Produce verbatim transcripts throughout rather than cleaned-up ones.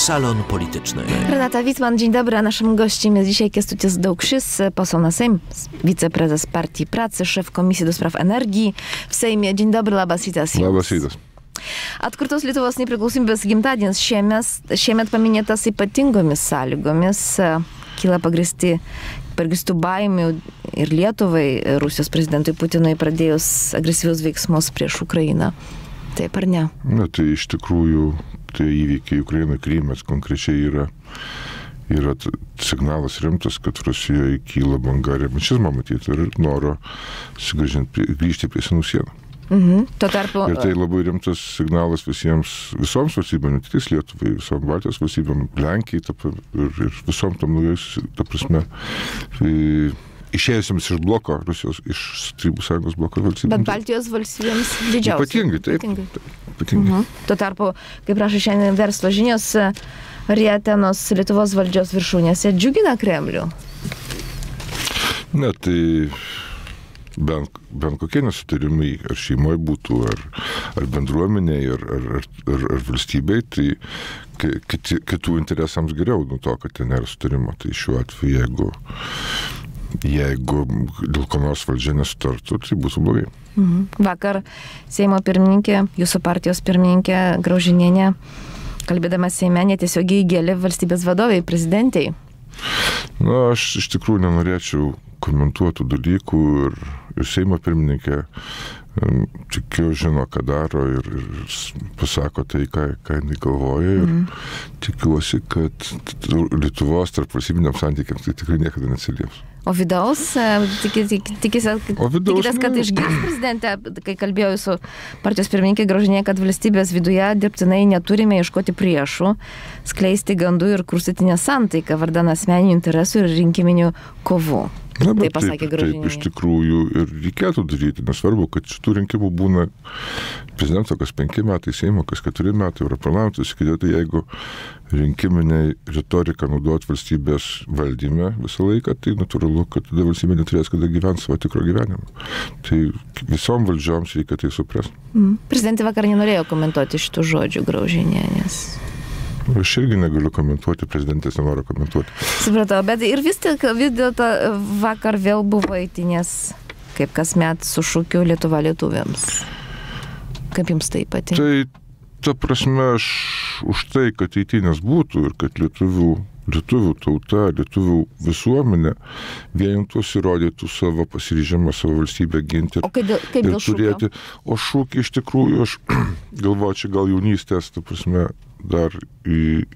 Salon Polityczny. Renata Wittmann, dzień dobry. A naszym gościem jest dzisiaj Kęstutis Daukšis, poseł na Sejm, wiceprezes Partii Pracy, szef Komisji do Spraw Energii w Sejmie. Dzień dobry, labas rytas. Labas rytas. Atkurtos Lietuvos nepriklausomybės gimtadienis šiemet, šiemet paminėtas ypatingomis sąlygomis. Kyla pagrįsti pagrįstų baimių ir Lietuvai, Rusijos prezidentui Putinui pradėjus agresyvius veiksmus prieš Ukrainą. Taip ar ne? Na, tai iš tikrųjų tai įvykiai Ukrainoje, Krymas konkrečiai yra, yra signalas rimtas, kad Rusijoje kyla banga revanšizmo matyti ir noro grįžti prie senų sienų. Mhm. Tuo tarpu... Ir tai labai rimtas signalas visiems, visoms valstybėm, ne tik Lietuvai, visom Baltijos valstybėm, Lenkijai ir, ir visom tam naujais, ta prasme, išėjusiems iš bloko, Rusijos, iš Tarybų Sąjungos bloko valstybėms. Bet Baltijos valstybėms didžiausiai. Ypatingai, taip. Ypatingai. taip ypatingai. Mhm. Tuo tarpu, kaip rašo šiandien Verslo žinios, rietenos Lietuvos valdžios viršūnėse džiugina Kremlių. Ne, tai... Bent, bent kokie nesutarimai, ar šeimoje būtų, ar, ar bendruomenėje, ar, ar, ar, ar valstybei, tai kiti, kitų interesams geriau nuo to, kad ten nėra sutarimo. Tai šiuo atveju, jeigu, jeigu dėl ko nors valdžia nesutartų, tai būtų blogai. Mhm. Vakar Seimo pirmininkė, jūsų partijos pirmininkė Graužinienė, kalbėdama Seime, netiesiogiai gėlė valstybės vadovai, prezidentei. Na, aš iš tikrųjų nenorėčiau komentuotų dalykų ir, ir Seimo pirmininkė tikiu žino, ką daro ir, ir pasako tai, ką, ką jinai galvoja ir mm. tikiuosi, kad Lietuvos tarp valstybiniams santykiams tai tikrai niekada neatsilieps. O vidaus, tikitės, kad išgirs prezidentę, kai kalbėjau su partijos pirmininkė Graužinė, kad valstybės viduje dirbtinai neturime ieškoti priešų, skleisti gandų ir kurstyti nesantaiką vardan asmeninių interesų ir rinkiminių kovų. Na, bet taip pasakė Graužinė. Taip iš tikrųjų ir reikėtų daryti, nesvarbu, kad šitų rinkimų būna prezidento kas penki metai, Seimo kas keturi metai, Europarlamentas, tai jeigu rinkiminė retorika naudot valstybės valdyme visą laiką, tai natūralu, kad tada valstybė neturės kada gyventi savo tikro gyvenimą. Tai visom valdžioms reikia tai suprasti. Mm. Prezidentė vakar nenorėjo komentuoti šitų žodžių Graužinė, nes... Aš irgi negaliu komentuoti, prezidentės nenoriu komentuoti. Supratau, bet ir vis tik vis dėlto vakar vėl buvo eitynės, kaip kasmet su šūkiu Lietuva lietuviams. Kaip jums tai patinka? Tai, ta prasme, aš už tai, kad eitynės būtų ir kad lietuvių, lietuvių tauta, lietuvių visuomenė vienintus įrodytų savo pasiryžimą, savo valstybę ginti ir, kaip dėl, kaip ir turėti. O šūkį iš tikrųjų, aš galvoju, čia gal jaunystės, ta prasme, dar į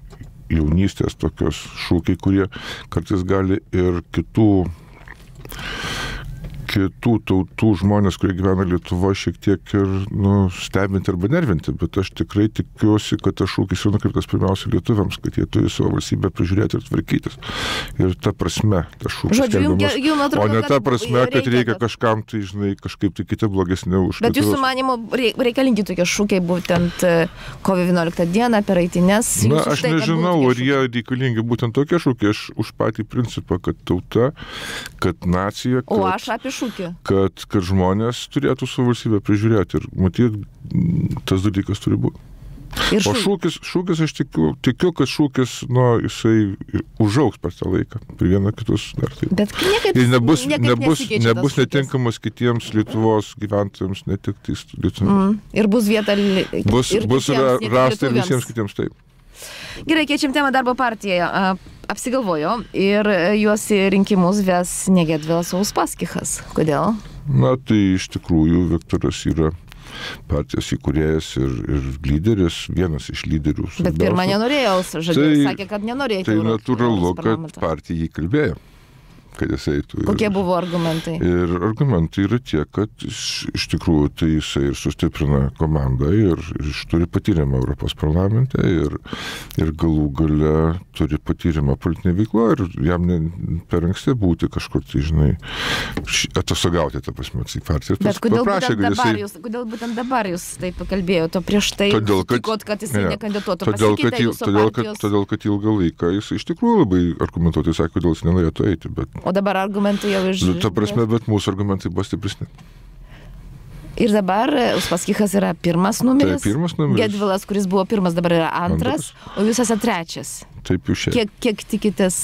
jaunystės tokios šūkiai, kurie kartais gali ir kitų, kitų tautų žmonės, kurie gyvena Lietuvoje, šiek tiek ir nu, stebinti arba nervinti, bet aš tikrai tikiuosi, kad tas šūkis yra nukreiptas pirmiausia lietuviams, kad jie turi savo valstybę prižiūrėti ir tvarkytis. Ir ta prasme, tas šūkis Žodžiu, jums, jums atrodo, o ne ta prasme, kad reikia, reikia kažkam, tai žinai, kažkaip tai kiti blogesni už bet jūsų manimo reikalingi tokie šūkiai būtent kovo vienuoliktą dieną per eitynės. Na, aš tai, nežinau, ar jie reikalingi būtent tokie šūkiai. Aš už patį principą, kad tauta, kad nacija, kad... O aš apie šūkį. Kad, kad žmonės turėtų savo valstybę prižiūrėti ir matyt, tas dalykas turi būti. Ir o šūkis, šūkis aš tikiu, tikiu, kad šūkis, nu, jisai užaugs per tą laiką, per vieną kitus dar taip. Bet niekaip, ir nebus, niekaip nebus, nebus netinkamas kitiems Lietuvos gyventojams, ne tik tais lietuviams. Mm. Ir bus vieta bus, ir bus kitiems, rasta ir visiems kitiems taip. Gerai, keičiam temą darbo partijoje. Apsigalvojo ir juos į rinkimus ves ne Gedvilas, o Uspaskichas. Kodėl? Na, tai iš tikrųjų Viktoras yra partijos įkūrėjas ir, ir lyderis, vienas iš lyderių. Bet pirmą nenorėjo, žodžiu, tai, sakė, kad nenorėjo. Tai natūralu, kad partija jį kalbėjo. Kad jis eitų. Kokie ir, buvo argumentai? Ir argumentai yra tie, kad iš, iš tikrųjų tai jisai ir sustiprina komandą ir, ir iš turi patyrimą Europos parlamente ir, ir galų gale turi patyrimą politinė veikla ir jam ne, per anksti būti kažkur, tai žinai, atostogauti, ta prasme, į partiją. Bet kodėl būtent, dabar jisai... jūs, kodėl būtent dabar jūs taip kalbėjote, o prieš tai todėl, kad, tikot, kad jisai ne, nekandidatuotų? Todėl, kad, il, todėl, kad, todėl, kad ilgą laiką jis iš tikrųjų labai argumentuotai sakė, kodėl jis nenorėtų eiti, bet o dabar argumentai jau iš... Ta prasme, bet mūsų argumentai buvo stipresni. Ir dabar Uspaskichas yra pirmas numeris. Tai pirmas numeris. Gedvilas, kuris buvo pirmas, dabar yra antras, antras. O jūs esate trečias. Taip jau šiandien. Kiek, kiek tikitės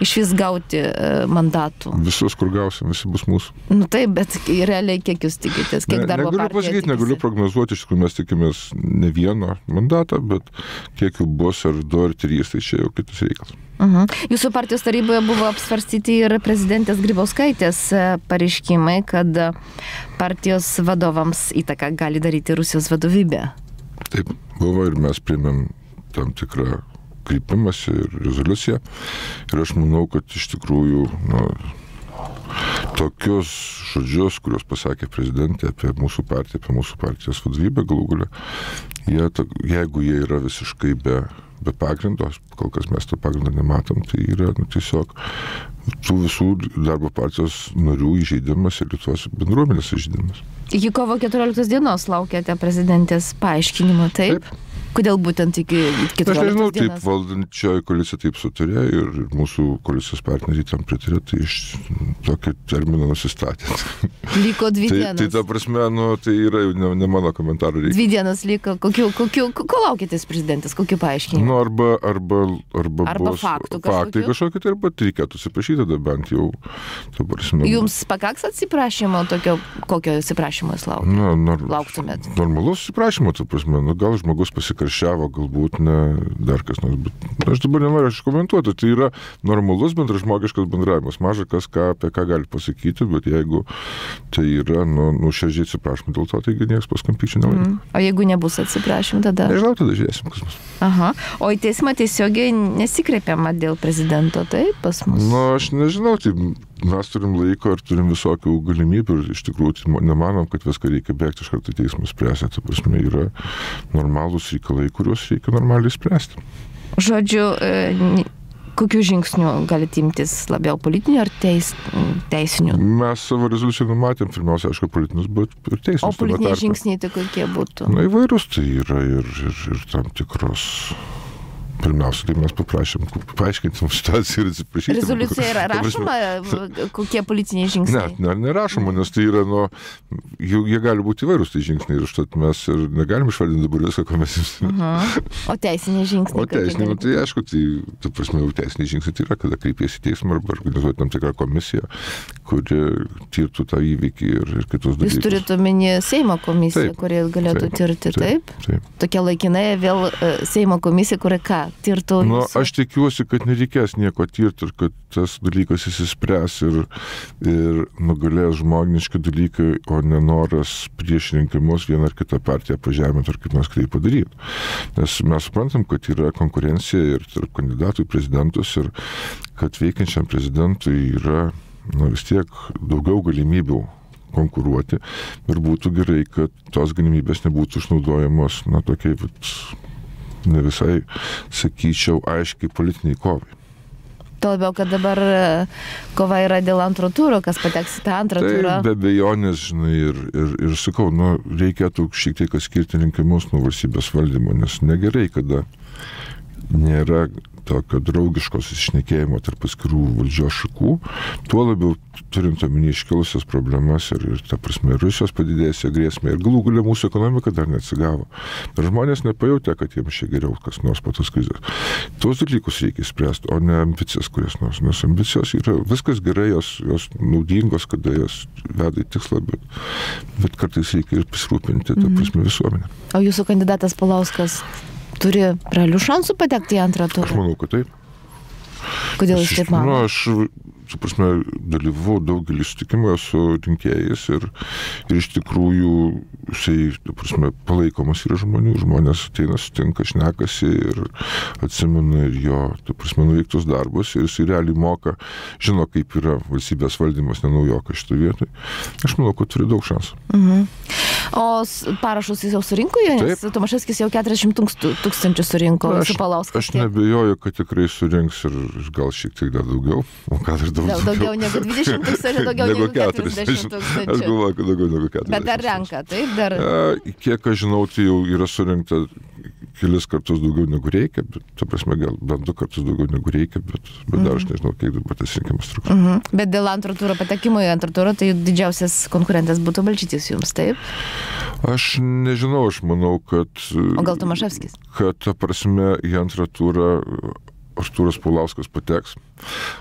iš vis gauti mandatų? Visus, kur gausim, visi bus mūsų. Nu taip, bet realiai kiek jūs tikitės? Kiek ne, darbo negaliu partija pasakyti, tikisi? Negaliu prognozuoti, iš tikrųjų mes tikimės ne vieno mandatą, bet kiek jų bus, ar du, ar trys, tai čia jau kitas reikalas. Uh-huh. Jūsų partijos taryboje buvo apsvarstyti ir prezidentės Grybauskaitės pareiškimai, kad partijos vadovams įtaką gali daryti Rusijos vadovybė. Taip, buvo ir mes priėmėm tam tikrą kreipimąsi ir rezoliuciją. Ir aš manau, kad iš tikrųjų nu, tokius žodžius, kuriuos pasakė prezidentė apie mūsų partiją, apie mūsų partijos vadovybę galų galia, jie, jeigu jie yra visiškai be, be pagrindo, kol kas mes to pagrindo nematom, tai yra nu, tiesiog tų visų darbo partijos narių įžeidimas ir Lietuvos bendruomenės įžeidimas. Iki kovo keturioliktos dienos laukiate prezidentės paaiškinimo, taip? Taip. Kodėl būtent iki keturioliktos dienos? Aš nežinau, taip valdančioji koalicija taip sutarė ir mūsų koalicijos partneriai tam pritarė, tai iš tokį terminą nusistatė. Liko dvi tai, dienas. Tai ta prasme, nu, tai yra jau ne, ne mano komentarų reikia. Dvi dienas liko. Kokiu, kokiu, ko laukitės prezidentės? Kokiu paaiškinimu? Nu, arba, arba, arba, arba bus faktų faktai kažkokie, tai arba reikėtų atsiprašyti tada bent jau. Ta prasme, jums pakaks atsiprašymo, tokio, kokio atsiprašymo jūs lauk... nu, nor, lauktumėt? Normalus atsiprašymo, ta prasme, nu, gal žmogus pasikarščiavo, galbūt ne dar kas nors, bet aš dabar nenoriu aš komentuoti, tai yra normalus bendražmogiškas bendravimas, maža kas ką, apie ką gali pasakyti, bet jeigu tai yra, nu, nuoširdžiai atsiprašymų dėl to, taigi niekas paskampyčių nelaiko. Mm. O jeigu nebus atsiprašymų, tada? Nežinau, tada žiūrėsim, kas bus. Aha, o į teismą tiesiogiai nesikreipiama dėl prezidento, taip, pas mus? Nu, aš nežinau, tai mes turim laiko ir turim visokių galimybių ir iš tikrųjų nemanom, kad viską reikia bėgti iš karto į teismą spręsti. Ta prasme, yra normalūs reikalai, kuriuos reikia normaliai spręsti. Žodžiu, kokių žingsnių galite imtis, labiau politinių ar teis, teisinių? Mes savo rezoliuciją numatėm, pirmiausia, aišku, politinius, bet ir teisinius. O politiniai žingsniai tai kokie būtų? Na, įvairūs, tai yra ir, ir, ir tam tikros... Pirmiausia, tai mes paprašėm paaiškinti mums situaciją ir atsiprašyti. Rezoliucija yra rašoma, kokie politiniai žingsniai? Ne, ne, nerašoma, nes tai yra, nu, jų, jie gali būti įvairūs tai žingsniai ir štai mes ir negalim išvardinti dabar viską, ko mes jums. Uh-huh. O teisiniai žingsniai? O teisiniai, tai aišku, tai, ta prasme, teisiniai žingsniai tai yra, kada kreipiesi į teismą arba organizuoti tam tikrą komisiją, kuri tirtų tą įvykį ir, ir kitus dalykus. Jūs turite omeny Seimo komisiją, kuri galėtų taip, tirti, taip? Taip, taip. Tokia laikinai vėl Seimo komisija, kuri ką? Tirtų nu, aš tikiuosi, kad nereikės nieko tirti ir kad tas dalykas įsispręs ir, ir nugalės žmogniški dalykai, o nenoras prieš rinkimus vieną ar kitą partiją pažeminti ar kaip nors kitaip padaryti. Nes mes suprantam, kad yra konkurencija ir tarp kandidatų į prezidentus ir kad veikiančiam prezidentui yra nu, vis tiek daugiau galimybių konkuruoti ir būtų gerai, kad tos galimybės nebūtų išnaudojamos na tokiai vat, ne visai, sakyčiau, aiškiai politiniai kovai. Tuo labiau, kad dabar kova yra dėl antro turo, kas pateks į tą antrą tai turą. Be abejonės, žinai, ir, ir, ir sakau, nu, reikėtų šiek tiek atskirti rinkimus nuo valstybės valdymo, nes negerai, kada nėra tokio draugiško susišnekėjimo tarp atskirų valdžios šakų, tuo labiau turint omeny iškilusias problemas ir, ir ta prasme, Rusijos padidėjusią grėsmę ir galų galia mūsų ekonomika dar neatsigavo. Ir žmonės nepajautė, kad jiems čia geriau kas nors po tos krizės. Tuos dalykus reikia spręsti, o ne ambicijas kurias nors. Nes ambicijos yra viskas gerai, jos, jos naudingos, kada jos veda į tikslą, bet, bet kartais reikia ir pasirūpinti, ta prasme, visuomenę. O jūsų kandidatas Paulauskas turi realių šansų patekti į antrą turą? Aš manau, kad taip. Kodėl jūs taip manote? Nu, aš, su prasme, dalyvau daugelį sutikimų su rinkėjais ir, ir iš tikrųjų jisai, su prasme, palaikomas yra žmonių, žmonės ateina, sutinka, šnekasi ir atsimena ir jo, su prasme, nuveiktus darbus ir jisai realiai moka, žino, kaip yra valstybės valdymas, nenaujokas šitą vietą. Aš manau, kad turi daug šansų. Mhm. O parašus jis jau surinko, nes Tomaševskis jau keturiasdešimt tūkstančių surinko su Paulauskas. Aš nebejoju, kad tikrai surinks ir gal šiek tiek dar daugiau, o gal ir daugiau. Daugiau negu dvidešimt tūkstančių, daugiau negu keturiasdešimt tūkstančių. Aš galvoju, kad daugiau negu keturiasdešimt. Bet dar renka, taip? Dar... Kiek aš žinau, tai jau yra surinkta kelis kartus daugiau negu reikia, bet, ta prasme, gal bent du kartus daugiau negu reikia, bet, bet dar aš nežinau, kiek dabar tas rinkimas truks. Mhm. Bet dėl antro turo patekimo į antrą turą, tai didžiausias konkurentas būtų Balčytis jums, taip? Aš nežinau, aš manau, kad... O gal Tomaševskis? Kad, ta prasme, į antrą turą Artūras Paulauskas pateks,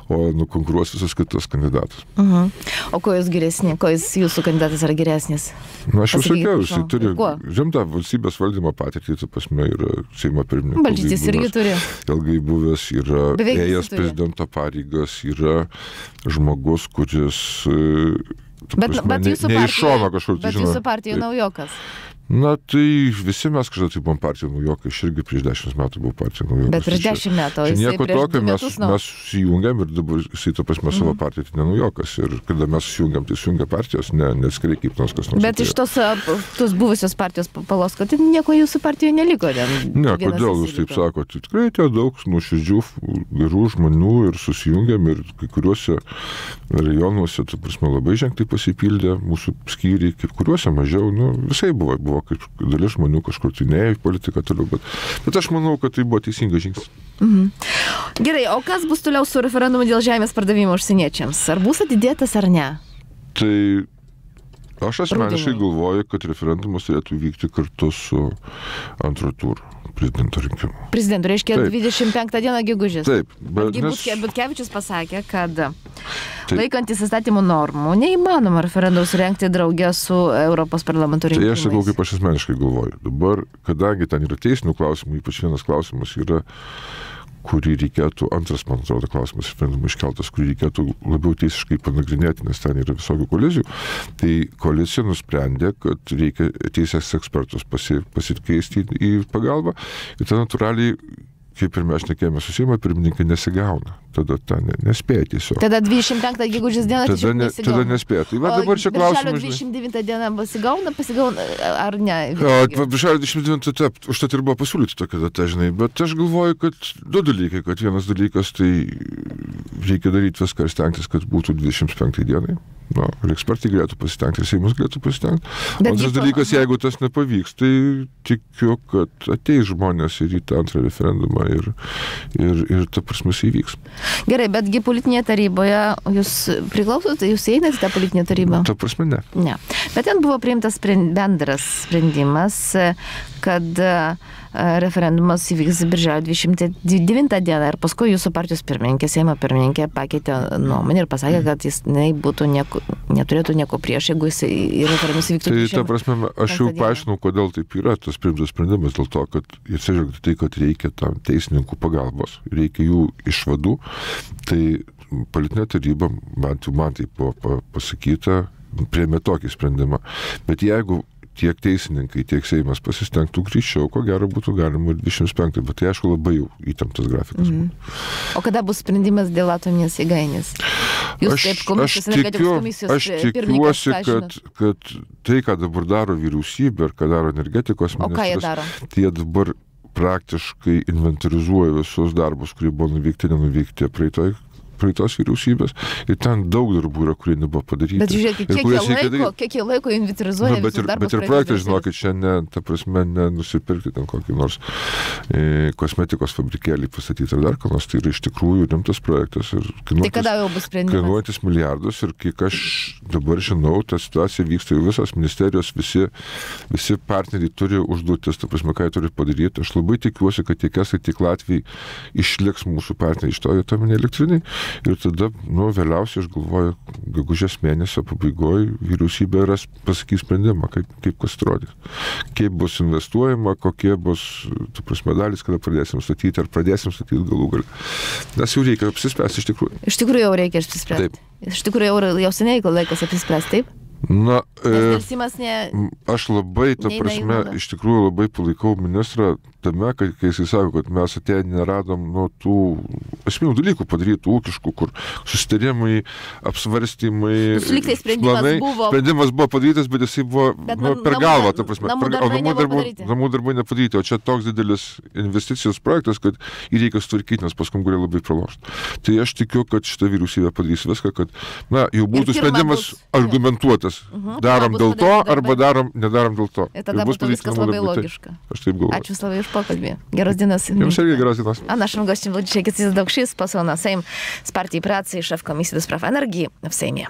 o nukonkuruos visas kitas kandidatas. Uh-huh. O ko jūs geresni? Ko jūs, jūsų kandidatas yra geresnis? Na, aš jau sakiau, jisai turi Kuo? žemtą valstybės valdymo patirtį, ta prasme, yra Seimo pirmininkas. Balčytis irgi turi. Ilgai buvęs, yra Beveik ėjęs prezidento pareigas, yra žmogus, kuris... Bet, prasme, bet ne, jūsų ne iš šono partija, kažkur, bet jūsų partija naujokas. Na, tai visi mes kažkada tai buvom partija naujokai, aš irgi prieš dešimt metų buvau partija naujokas. Bet prieš dešimt metų, jisai nieko prieš tokio, du mes, metus, nu. mes susijungiam ir dabar jisai, ta prasme, savo partiją tai nenaujokas. Ir kada mes susijungiam, tai susijungia partijos, ne, neskrai kaip nors kas nors. Bet iš tos, tos buvusios partijos Paulausko, tai nieko jūsų partijoje neliko. Ne, kodėl jūs taip sakote? Tikrai tie daug nuoširdžių, gerų žmonių ir susijungiam ir kai kuriuose rajonuose, ta prasme, labai ženkliai pasipildė mūsų skyriai, kaip kuriuose mažiau, nu, visai buvo, buvo kaip dalis žmonių kažkur tai neėjo į politiką toliau, bet, bet aš manau, kad tai buvo teisingas žingsnis. Mhm. Gerai, o kas bus toliau su referendumu dėl žemės pardavimo užsieniečiams? Ar bus atidėtas ar ne? Tai aš asmeniškai galvoju, kad referendumas turėtų vykti kartu su antro turo prezidento rinkimu. Prezidento, reiškia Taip. dvidešimt penktą dieną gegužės. Taip, bet nes... nes... Butkevičius pasakė, kad Taip. laikantis įstatymų normų neįmanoma referendumus rengti draugę su Europos parlamento rinkimais. Tai aš sakau, kaip aš asmeniškai galvoju. Dabar, kadangi ten yra teisinių klausimų, ypač vienas klausimas yra, kurį reikėtų, antras, man atrodo, klausimas referendumų iškeltas, kurį reikėtų labiau teisiškai panagrinėti, nes ten yra visokių kolizijų, tai koalicija nusprendė, kad reikia teisės ekspertus pasi, pasikeisti į pagalbą ir tada natūraliai, kaip ir mes šnekėjome su Seimo pirmininkai, nesigauna. Tada ta ne, nespėja tiesiog. Tada dvidešimt penktą gegužės dieną tada, ne, tada nespėja. Tai va dabar čia klausimas. dvidešimt devintą dieną pasigauna, pasigauna ar ne? O, birželio dvidešimt devintą taip, užtat ir buvo pasiūlyti tokia data, žinai, bet aš galvoju, kad du dalykai, kad vienas dalykas, tai reikia daryti viską ir stengtis, kad būtų dvidešimt penktą dienai. Na, ir ekspertai galėtų pasitengti, ir Seimas galėtų pasitengti. Antras dalykas, jeigu tas nepavyks, tai tikiu, kad ateis žmonės ir į tą antrą referendumą ir, ir, ir ta prasme įvyks. Gerai, betgi politinėje taryboje jūs priklausote, jūs einate į tą politinę tarybą? Ta prasme, ne. Ne. Bet ten buvo priimtas sprend, bendras sprendimas, kad referendumas įvyks birželio dvidešimt devintą dieną ir paskui jūsų partijos pirmininkė, Seimo pirmininkė pakeitė nuomonę ir pasakė, kad jis ne, būtų nieko, neturėtų nieko prieš, jeigu jis į referendumus įvyktų. Tai ta prasme, aš jau paaiškinau, kodėl taip yra tas priimtas sprendimas, dėl to, kad atsižvelgiant tai, kad reikia tam teisininkų pagalbos, reikia jų išvadų, tai politinė taryba, bent jau man tai buvo pasakyta, priėmė tokį sprendimą. Bet jeigu tiek teisininkai, tiek Seimas pasistengtų greičiau, ko gero būtų galima ir dvidešimt penktą, bet tai aišku labai jau įtemptas grafikas. Mm. O kada bus sprendimas dėl atominės jėgainės? Jūs aš, kaip komisijos, aš, tikiu, komisijos aš tikiuosi, kad, kad tai, ką dabar daro vyriausybė ir ką daro energetikos ministras, o ką jie daro? Tai jie dabar praktiškai inventarizuoja visus darbus, kurie buvo nuveikti, nenuvykti praeitoj praeitos vyriausybės ir ten daug darbų yra, kurie nebuvo padaryti. Bet žiūrėkit, kiek jie laiko, kiek jie laiko inventarizuoja nu, visus darbus. Bet ir projektai, žinokit, čia ne, ta prasme, nenusipirkti ten kokį nors e, kosmetikos fabrikėlį pastatyti ar dar ką nors, tai yra iš tikrųjų rimtas projektas ir tai kada jau bus sprendimas? Kainuojantis milijardus ir kiek aš dabar žinau, ta situacija vyksta jau visos ministerijos, visi, visi partneriai turi užduotis, ta prasme, ką jie turi padaryti. Aš labai tikiuosi, kad tiek esai, tiek Latvijai išliks mūsų partneriai iš to atominė elektrinė. Ir tada, nu, vėliausiai, aš galvoju, gegužės mėnesio pabaigoje vyriausybė ras pasakys sprendimą, kaip, kaip kas atrodys. Kaip bus investuojama, kokie bus, tu prasme, dalys, kada pradėsim statyti, ar pradėsim statyti galų galę. Nes jau reikia apsispręsti iš tikrųjų. Iš tikrųjų jau reikia apsispręsti. Taip. Iš tikrųjų jau, jau seniai laikas apsispręsti, taip? Na, e, ne, aš labai, ta prasme, iš tikrųjų labai palaikau ministrą tame, kai, kai jisai sako, kad mes atėję neradom nuo tų esminių dalykų padarytų ūkiškų, kur susitarimai, apsvarstymai, planai, sprendimas buvo, sprendimas buvo padarytas, bet jisai buvo bet nu, per namų, galvą, ta prasme, namų per, darbai, namų, darbai, darbai, namų darbai nepadaryti, o čia toks didelis investicijos projektas, kad jį reikia sutvarkyti, nes paskui gali labai pralošti. Tai aš tikiu, kad šita vyriausybė padarys viską, kad, na, jau būtų sprendimas bus, argumentuotas. klausimas, Mhm. darom Tada dėl bus to, padaryti arba darbai. darom, nedarom dėl to. Ir tada bus būtų viskas padaryti labai namų darbai. logiška. Taip, Aš taip galvoju. Ačiū Slavai už pokalbį. Geros dienos. Jums irgi geros dienos. А нашим гостем был Чекис Давкшис, посол на Сейм с партии працы и шеф комиссии до справ энергии в Сейме.